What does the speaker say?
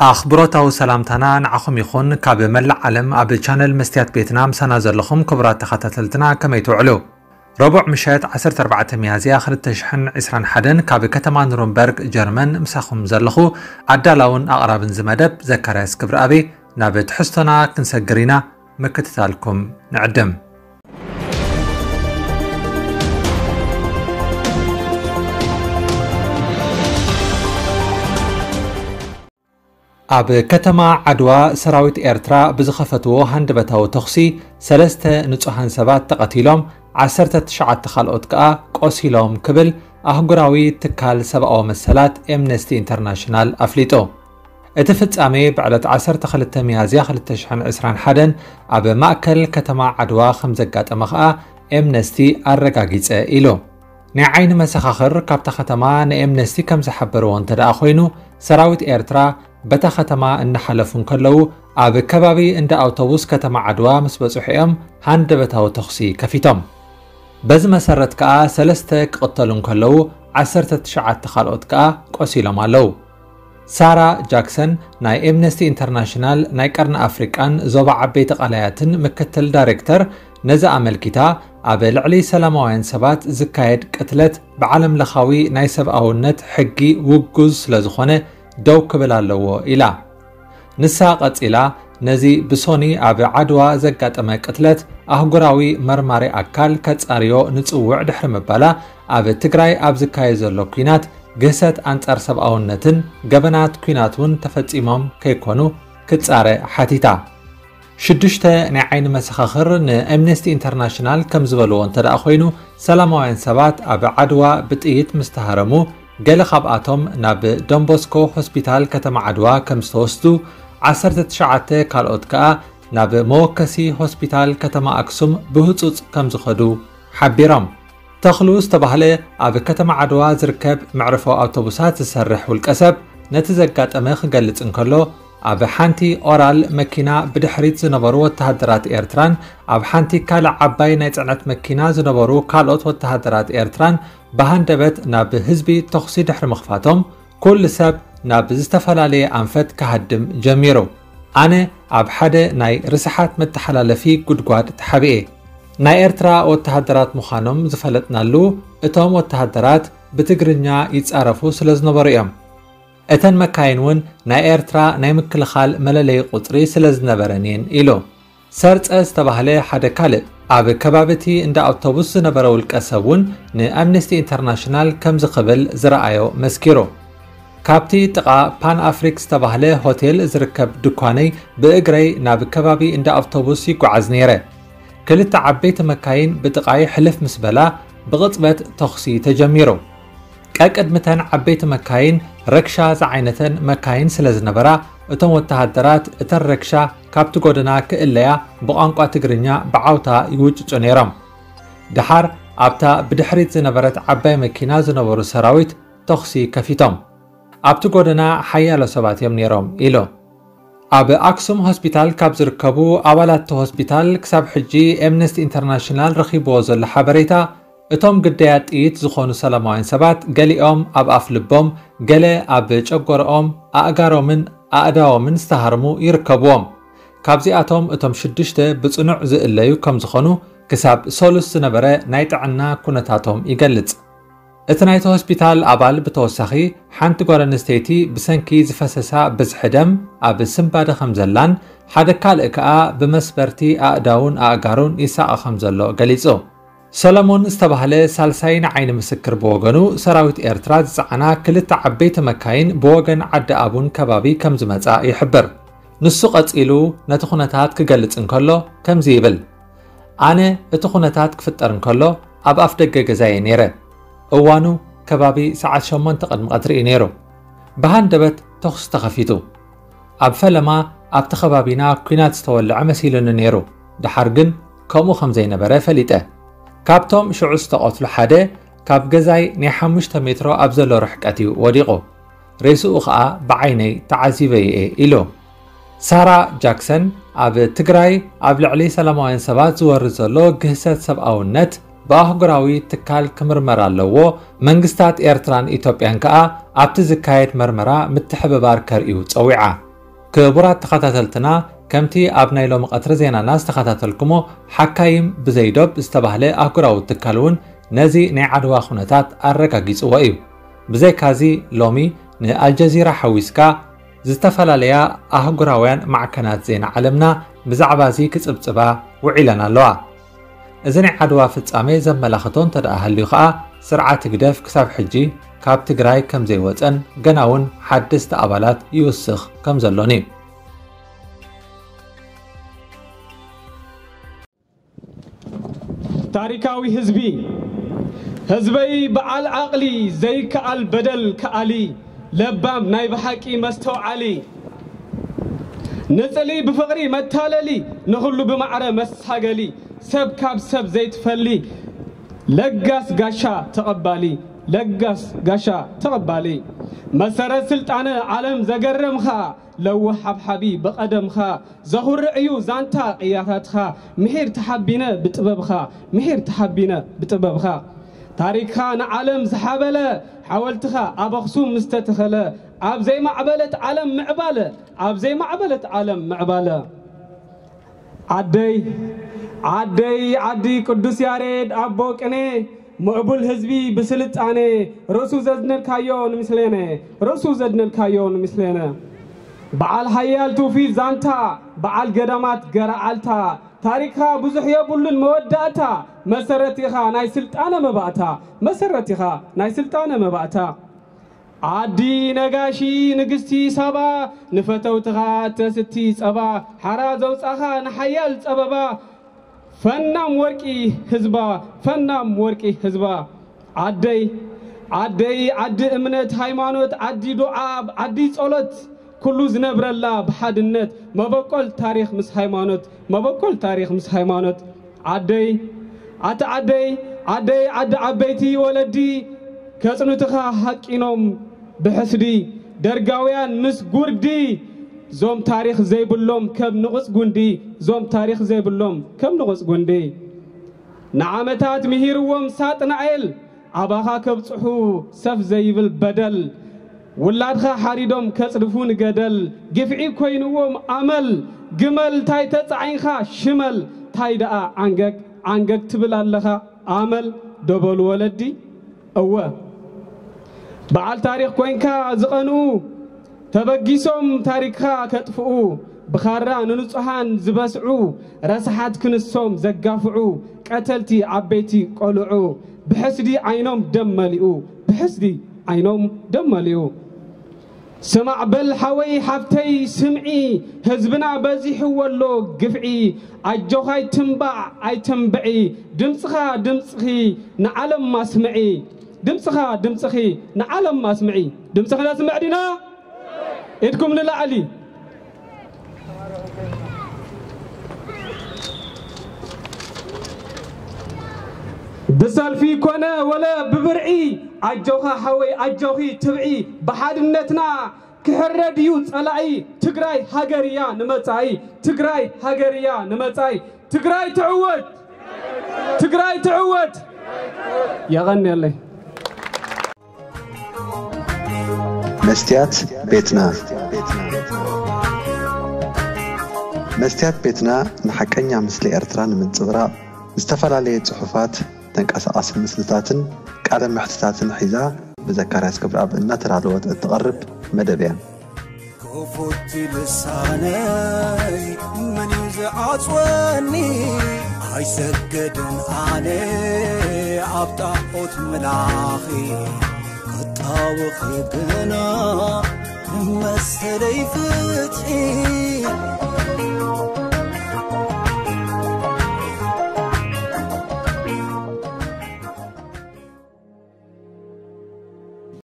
ኣኽብሮታዊ ሰላምታና ንዓኹም ይኹን። ካብ መላእ ዓለም ኣብ ቻነል መስትያት ቤትና ምሳና ዘለኹም ክቡራት ተኸታተልትና ከመይ ትውዕሉ? ረቡዕ ምሸት ዓሰርተ ኣርባዕተ ሚያዝያ ክልተ ሽሕን ዕስራን ሓደን ካብ ከተማ ኑረምበርግ ጀርመን ምሳኹም ዘለኹ ኣዳላውን ኣቕራብን ዝመደብ ዘካርያስ ክብረኣብ። ናብ ትሕዝቶና ክንሰግር ኢና፣ ምክትታልኩም ንዕድም። ኣብ ከተማ ዓድዋ ሰራዊት ኤርትራ ብዝኸፈትዎ ሃንደበታዊ ተኹሲ ሰለስተ ንጹሃን ሰባት ተቐቲሎም፣ ዓሰርተ ትሽዓተ ካልኦት ከኣ ቆሲሎም ክብል ኣህጉራዊ ትካል ሰብኣዊ መሰላት ኤምነስቲ ኢንተርናሽናል ኣፍሊጡ። እቲ ፍጻሜ ብዕለት ዓሰርተ ክልተ ሚያዝያ ክልተ ሽሕን ዕስራን ሓደን ኣብ ማእከል ከተማ ዓድዋ ከም ዘጋጠመ ከኣ ኤምነስቲ ኣረጋጊጸ ኢሉ። ናይ ዓይኒ መሰኻኽር ካብታ ከተማ ንኤምነስቲ ከም ዝሓበርዎ እንተ ደኣ ኮይኑ፣ ሰራዊት ኤርትራ በታ ከተማ እናሓለፉ እንከለዉ፣ ኣብ ከባቢ እንዳ ኣውቶቡስ ከተማ ዓድዋ ምስ በጽሑ እዮም ሃንደበታዊ ተኹሲ ከፊቶም። በዚ መሰረት ከኣ ሰለስተ ክቕተሉ እንከለዉ፣ ዓሰርተ ትሽዓተ ካልኦት ከኣ ቆሲሎም ኣለዉ። ሳራ ጃክሰን ናይ ኤምነስቲ ኢንተርናሽናል ናይ ቀርኒ ኣፍሪቃን ዞባ ዓበይቲ ቃላያትን ምክትል ዳይሬክተር ነዚ ኣመልኪታ፣ ኣብ ልዕሊ ሰላማውያን ሰባት ዝካየድ ቅትለት ብዓለም ለኻዊ ናይ ሰብኣውነት ሕጊ ውጉዝ ስለ ዝኾነ ደው ክብል ኣለዎ ኢላ። ንሳ ቀጺላ፣ ነዚ ብሶኒ ኣብ ዓድዋ ዘጋጠመ ቅትለት ኣህጉራዊ መርማሪ ኣካል ከጻርዮ ንጽውዕ ድሕሪ ምባላ፣ ኣብ ትግራይ ኣብ ዝካየድ ዘሎ ኲናት ግህሰት ኣንጻር ሰብኣውነትን ገበናት ኲናት እውን ተፈጺሞም ከይኮኑ ክጻረ ሓቲታ። ሽዱሽተ ናይ ዓይኒ መሰኻኽር ንኣምነስቲ ኢንተርናሽናል ከም ዝበልዎ እንተ ደኣ ኮይኑ፣ ሰላማውያን ሰባት ኣብ ዓድዋ ብጥይት ምስ ተሃረሙ፣ ገለ ካብኣቶም ናብ ዶንቦስኮ ሆስፒታል ከተማ ዓድዋ ከም ዝተወስዱ፣ ዓሰርተ ትሽዓተ ካልኦት ከኣ ናብ መወከሲ ሆስፒታል ከተማ ኣክሱም ብህጹጽ ከም ዝኸዱ ሓቢሮም። ተኽሉ ዝተባህለ ኣብ ከተማ ዓድዋ ዝርከብ መዕርፎ ኣውቶቡሳት ዝሰርሕ ውልቀ ሰብ ነቲ ዘጋጠመ ክገልጽ እንከሎ፣ ኣብ ሓንቲ ኦራል መኪና ብድሕሪት ዝነበሩ ወተሃደራት ኤርትራን ኣብ ሓንቲ ካልእ ዓባይ ናይ ጽዕነት መኪና ዝነበሩ ካልኦት ወተሃደራት ኤርትራን ብሃንደበት ናብ ህዝቢ ተኹሲ ድሕሪ ምኽፋቶም፣ ኩሉ ሰብ ናብ ዝተፈላለየ ኣንፈት ክሃድም ጀሚሩ። ኣነ ኣብ ሓደ ናይ ርስሓት መተሓላለፊ ጉድጓድ ተሓቢኤ። ናይ ኤርትራ ወተሃደራት ምዃኖም ዝፈለጥናሉ፣ እቶም ወተሃደራት ብትግርኛ ይጻረፉ ስለ ዝነበሩ እዮም። እተን መካይን እውን ናይ ኤርትራ ናይ ምክልኻል መለለዪ ቁጽሪ ስለ ዝነበረን እየን ኢሉ። ሰርጸ ዝተባህለ ሓደ ካልእ ኣብ ከባቢ እቲ እንዳ ኣውቶቡስ ዝነበረ ውልቀ ሰብ እውን ንኣምነስቲ ኢንተርናሽናል ከምዚ ክብል ዝረኣዮ መስኪሩ። ካብቲ ጥቓ ፓን ኣፍሪክ ዝተባህለ ሆቴል ዝርከብ ድኳነይ ብእግረይ ናብ ከባቢ እንዳ ኣውቶቡስ ይጓዓዝ ነይረ። ክልተ ዓበይቲ መካይን ብጥቓይ ሕልፍ ምስ በላ ብቕጽበት ተኹሲ ተጀሚሩ። ቀቅድሚተን ዓበይቲ መካይን ረክሻ ዝዓይነተን መካይን ስለ ዝነበራ፣ እቶም ወተሃደራት እተን ረክሻ ካብቲ ጎደና ክእለያ ብቋንቋ ትግርኛ ብዓውታ ይውጭጩ ነይሮም። ደሓር ኣብታ ብድሕሪት ዝነበረት ዓባይ መኪና ዝነበሩ ሰራዊት ተኹሲ ከፊቶም። ኣብቲ ጎደና ሓያሎ ሰባት እዮም ነይሮም ኢሉ። ኣብ ኣክሱም ሆስፒታል ካብ ዝርከቡ ኣባላት እቲ ሆስፒታል ክሳብ ሕጂ ኤምነስቲ ኢንተርናሽናል ረኺብዎ ዘሎ ሓበሬታ፣ እቶም ግዳያት ጥይት ዝኾኑ ሰላማውያን ሰባት ገሊኦም ኣብ ኣፍ ልቦም፣ ገለ ኣብ ጨጎርኦም፣ ኣእጋሮምን ኣእዳዎምን ዝተሃርሙ ይርከብዎም። ካብዚኣቶም እቶም ሽዱሽተ ብጽኑዕ ዝእለዩ ከም ዝኾኑ ክሳብ ሰሉስ ዝነበረ ናይ ጥዕና ኩነታቶም ይገልጽ። እቲ ናይቲ ሆስፒታል ኣባል ብተወሳኺ፣ ሓንቲ ጓል ኣንስተይቲ ብሰንኪ ዝፈሰሳ ብዝሒ ደም ኣብ ስንባደ ከም ዘላን ሓደ ካልእ ከኣ ብመስበርቲ ኣእዳውን ኣእጋሩን ይሳቐ ከም ዘሎ ገሊጹ። ሰለሞን ዝተባህለ ሳልሳይ ንዓይኒ ምስክር ብወገኑ፣ ሰራዊት ኤርትራ ዝጸዓና ክልተ ዓበይቲ መካይን ብወገን ዓዲ ኣቡን ከባቢ ከም ዝመጻ ይሕብር። ንሱ ቀጺሉ ነቲ ኩነታት ክገልጽ እንከሎ ከምዚ ይብል። ኣነ እቲ ኩነታት ክፍጠር እንከሎ ኣብ ኣፍ ደገ ገዛየ ነይረ። እዋኑ ከባቢ ሰዓት ሸሞንተ ቅድሚ ቀትሪ እዩ ነይሩ። ብሃንደበት ተኹሲ ተኸፊቱ። ኣብ ፈለማ ኣብቲ ከባቢና ኲናት ዝተወልዐ መሲሉኒ ነይሩ። ደሓር ግን ከምኡ ከም ዘይነበረ ፈሊጠ። ካብቶም ሽዑ ዝተቐትሉ ሓደ ካብ ገዛይ ናይ ሓሙሽተ ሜትሮ ኣብ ዘሎ ርሕቀት እዩ ወዲቑ። ሬስኡ ኸኣ ብዓይነይ ተዓዚበ እየ ኢሉ። ሳራ ጃክሰን ኣብ ትግራይ ኣብ ልዕሊ ሰላማውያን ሰባት ዝወርድ ዘሎ ግህሰት ሰብኣውነት ብኣህጉራዊ ትካል ክምርመር ኣለዎ፣ መንግስታት ኤርትራን ኢትዮጵያን ከኣ ኣብቲ ዝካየድ መርመራ ምትሕብባር ከርእዩ ጸዊዓ። ክቡራት ተኸታተልትና፣ ከምቲ ኣብ ናይ ሎሚ ቀትሪ ዜናና ዝተኸታተልኩሞ፣ ሓካይም ብዘይ ዶብ ዝተባህለ ኣህጉራዊ ትካል እውን ነዚ ናይ ዓድዋ ኩነታት ኣረጋጊጽዎ እዩ። ብዘይካዚ፣ ሎሚ ንኣልጀዚራ ሓዊስካ ዝተፈላለያ ኣህጉራውያን ማዕከናት ዜና ዓለምና ብዛዕባ እዚ ክጽብጽባ ውዒለን ኣለዋ። እዚ ናይ ዓድዋ ፍጻሜ ዘመላኽቶ እንተ ደኣ ሃልዩ ከኣ፣ ስርዓት ህግደፍ ክሳብ ሕጂ ካብ ትግራይ ከም ዘይወጸን ገና እውን ሓደስቲ ኣባላት ይውስኽ ከም ዘሎን እዩ። ታሪካዊ ህዝቢ፣ ህዝበይ በዓል ዓቕሊ ዘይከኣል በደል ከኣሊ፣ ለባም ናይ ብሓቂ መስተውዓሊ፣ ንጽሊ ብፍቕሪ መታለሊ፣ ንኹሉ ብማዕረ መሳገሊ፣ ሰብ ካብ ሰብ ዘይትፈሊ፣ ለጋስ ጋሻ ተቐባሊ፣ ለጋስ ጋሻ ተቐባሊ፣ መሰረት ስልጣነ ዓለም ዘገረምኻ፣ ለዋህ ሓብሓቢ ብቐደምኻ፣ ዘኹርዕ እዩ ዛንታ ቅያታትኻ፣ ምሒር ተሓቢነ ብጥበብኻ፣ ምሒር ተሓቢነ ብጥበብኻ። ታሪኽኻ ንዓለም ዝሓበለ፣ ሓወልትኻ ኣብ ኣኽሱም ምስ ተተኸለ፣ ኣብ ዘይማዕበለት ዓለም ምዕባለ፣ ኣብ ዘይማዕበለት ዓለም ምዕባለ። ዓደይ፣ ዓደይ፣ ዓዲ ቅዱስ ያሬድ ኣቦ ቅኔ፣ ምዕቡል ህዝቢ ብስልጣኔ፣ ርእሱ ዘድነድካዮ ንምስሌነ፣ ርእሱ ዘድነድካዮ ንምስሌነ። በዓል ሓያል ትውፊት ዛንታ፣ በዓል ገዳማት ገረዓልታ፣ ታሪኽኻ ብዙሕ የብሉን መወዳእታ፣ መሰረት ኢኻ ናይ ስልጣነ መባእታ፣ መሰረት ኢኻ ናይ ስልጣነ መባእታ። ዓዲ ነጋሺ ንግስቲ ሳባ፣ ንፈተውትኻ ተስቲ ጸባ፣ ሓራ ዘውጻኻ ንሓያል ጸበባ፣ ፈናም ወርቂ ህዝባ፣ ፈናም ወርቂ ህዝባ። ዓደይ፣ ዓደይ፣ ዓዲ እምነት ሃይማኖት፣ ዓዲ ዱዓ፣ ዓዲ ጸሎት፣ ኩሉ ዝነብረላ ብሓድነት፣ መበቆል ታሪኽ ምስ ሃይማኖት፣ መበቆል ታሪኽ ምስ ሃይማኖት። ዓደይ፣ ኣቲ ዓደይ፣ ዓደይ፣ ዓዲ ዓበይቲ ወለዲ፣ ከጽኑትኻ ሃቂኖም ብሕስዲ፣ ደርጋውያን ምስ ጉርዲ፣ ዞም ታሪኽ ዘይብሎም ከም ንቑጽ ጉንዲ፣ ዞም ታሪኽ ዘይብሎም ከም ንቑጽ ጉንዲ። ንዓመታት ምሂርዎም ሳጥናኤል፣ ኣባኻ ከብጽሑ ሰፍ ዘይብል በደል፣ ውላድኻ ሓሪዶም ከጽድፉ ንገደል፣ ግፍዒ ኮይንዎም ኣመል፣ ግመል ታይ ተጻዒንኻ ሽመል፣ ታይ ደኣ ዓንገግ ዓንገግ ትብል ኣለኻ ኣመል፣ ዶ በሉ ወለዲ። እወ፣ በዓል ታሪኽ ኮይንካ ዝቐንኡ፣ ተበጊሶም ታሪኽካ ከጥፍኡ፣ ብኻራ ንንጹሃን ዝበስዑ፣ ረስሓት ክንሶም ዘጋፍዑ፣ ቀተልቲ ዓበይቲ ቆልዑ፣ ብሕስዲ ዓይኖም ደም መሊኡ፣ ብሕስዲ ዓይኖም ደም መሊኡ። ስማዕ በል ሓወይ ሓፍተይ ስምዒ፣ ህዝብና በዚሕዎ ኣሎ ግፍዒ፣ ኣጆኻ ኣይትንባዕ ኣይተንብዒ፣ ድምፅኻ ድምፅኺ ንዓለም ኣስምዒ፣ ድምፅኻ ድምፅኺ ንዓለም ኣስምዒ። ድምፅኺ ነስምዕ ዲና? ኢድኩም ንላዕሊ። ብሰልፊ ኮነ ወለ ብብርዒ፣ ኣጆኻ ሓወይ ኣጆኺ ትብዒ፣ ብሓድነትና ክሕረድ እዩ ጸላኢ። ትግራይ ሃገር እያ ንመጻኢ፣ ትግራይ ሃገር እያ ንመጻኢ። ትግራይ ትዕወት! ትግራይ ትዕወት! የቐንየለይ። መስትያት ቤትና። መስትያት ቤትና ንሓቀኛ ምስሊ ኤርትራ ንምንጽብራቕ፣ ዝተፈላለየ ጽሑፋት፣ ተንቀሳቓሲ ምስልታትን ቃለ መሕትታትን ሒዛ ብዘካርያስ ገብረኣብ እናተዳለወት እትቐርብ መደብ እያ። ክፉት ልሳነይ መን እዩ ዝዓጽወኒ? ኣይሰገድን ኣነ ኣብ ጣዖት ምላኺ፣ ክጣወኺ ግና መሰለይ ፍትሒ።